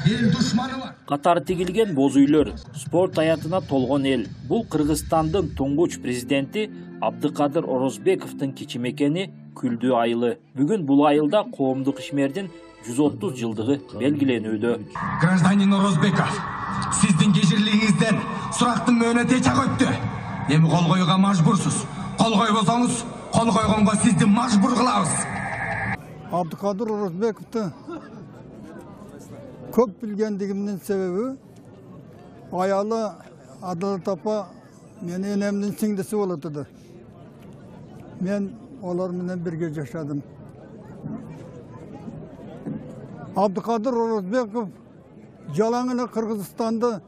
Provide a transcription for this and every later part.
эл душманы бар. Катары тигилген боз үйлөр, спорт аятына толгон эл. Бул Кыргызстандын туңгуч президенти Абдыкадыр Орозбековдун кичимекени Күлдүү айылы. Бүгүн бул айылда коомдук ишмердин 130 жылдыгы белгиленүүдө. Гражданин Орозбеков, сиздин кежирлигиңизден сурактын мөөнөтү чак өттү. Эми кол коюуга мажбурсуз. Кол койбосоңуз, кол койгонго сизди мажбур кылабыз. Абдыкадыр Орозбековду көп билгендигимдин себеби аялы Адалат апа менин энемдин сиңдиси болот эди. Мен олар менен бирге жашадым. Абдыкадыр Орозбеков жалаң эле Кыргызстанды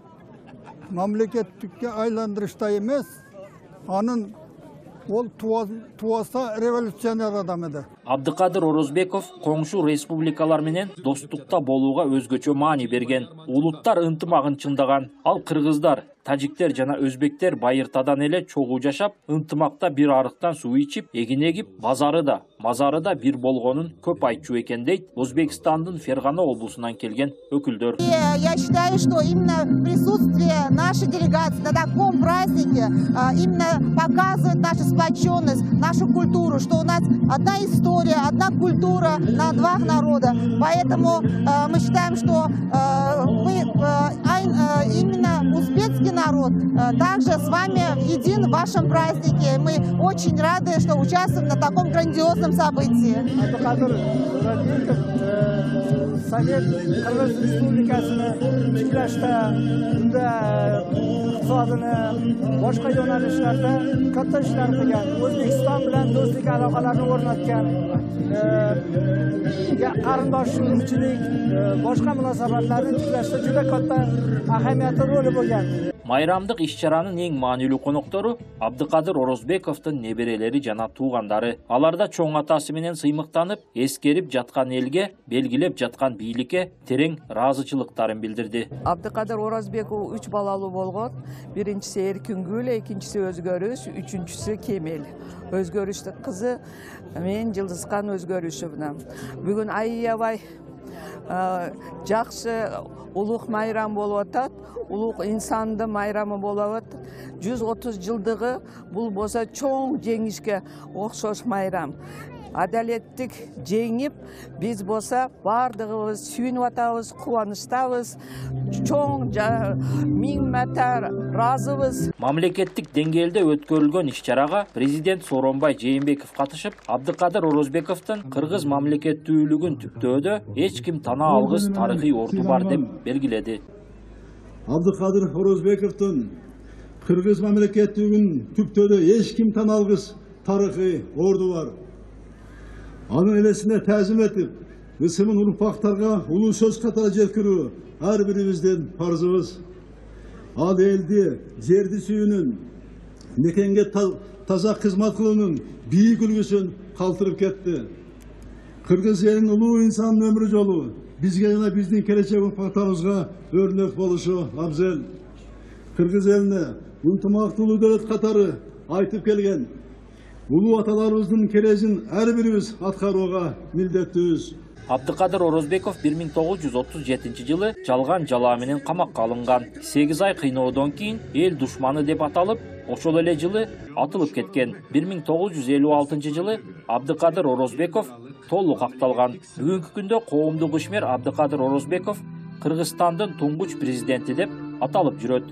мамлекеттикке айландырышта эмес, анын ол туаса революционер адам эди. Абдыкадыр Орозбеков коңшу республикалар менен достукта болууга өзгөчө маани берген. Улуттар ынтымагын чындаган. Ал кыргыздар, тажиктер жана өзбектер байыртадан эле чогуу жашап, ынтымакта бир арыктан суу ичип, эгин эгип, мазары да бир болгонун көп айтчу экен дейт Өзбекстандын Фергана облусунан келген өкүлдөр. Я считаю, что именно присутствие нашей делегации на таком празднике именно показывает нашу сплоченность, нашу культуру, что у нас одна история, одна культура на два народа. Поэтому мы считаем, что именно узбекский народ также с вами един в вашем празднике. Мы очень рады, что участвуем на таком грандиозном событии. Совет Кыргыз Республикасыны тиклашта, iqtisodini boshqa yo'nalishlarda katta ishlar qilgan, O'zbekiston bilan do'stlik aloqalarini o'rnatgan, qarindoshchilik, boshqa munosabatlarni tiklashda juda katta ahamiyatli roli bo'lgan. Майрамдык иш-чаранын эң маанилүү коноктору Абдыкадыр Орозбековдун неберелери жана туугандары. Аларда чоң атасы менен сыймыктанып, эскерип жаткан элге, белгилеп жаткан бийликке терең ыраазычылыктарын билдирди. Абдыкадыр Орозбеков 3 балалуу болгон. Биринчиси Эркингүл, экинчиси Өзгөрүш, үчүнчүсү Кемел. Өзгөрүштүн кызы мен Жылдызкан Өзгөрүшовна. Бүгүн аябай жакшы улук майрам болуп атат. Улук инсандын майрамы болуп атат. 130 жылдыгы бул болсо чоң жеңишке окшош майрам. Адалеттик жеңип, биз болсо бардыгыбыз сүйүнүп атабыз, кубанычтабыз, чоң миң мәртө ыраазыбыз. Мамлекеттик деңгээлде өткөрүлгөн иш-чарага президент Сооронбай Жээнбеков катышып, Абдыкадыр Орозбековдун кыргыз мамлекеттүүлүгүн түптөөдө эч ким тана алгыс тарыхый орду бар деп белгиледи. Абдыкадыр Орозбековдун кыргыз мамлекеттүүлүгүн түптөөдө эч ким тана алгыс тарыхый орду бар. Анын элесине тәзим этип, ысымын урпактарга улуу сөз катары жеткирүү ар бирибиздин парзыбыз. Ал элди, жерди сүйүүнүн, мекенге таза кызмат кылуунун бийик үлгүсүн калтырып кетти. Кыргыз элинин улуу инсанын өмүр жолу бизге жана биздин келечек урпактарыбызга өрнөк болушу абзел. Кыргыз элине ынтымактуулуу дөөлөт катары айтып келген улуу аталарыбыздын кережин ар бирибиз аткарууга милдеттүүбүз. Абдыкадыр Орозбеков 1937 жылы жалган жалаа менен камакка алынган. 8 ай кыйноодон кийин эл душманы деп аталып, ошол эле жылы атылып кеткен. 1956 жылы Абдыкадыр Орозбеков толук акталган. Бүгүнкү күндө коомдук ишмер Абдыкадыр Орозбеков Кыргызстандын туңгуч президенти деп аталып жүрөт.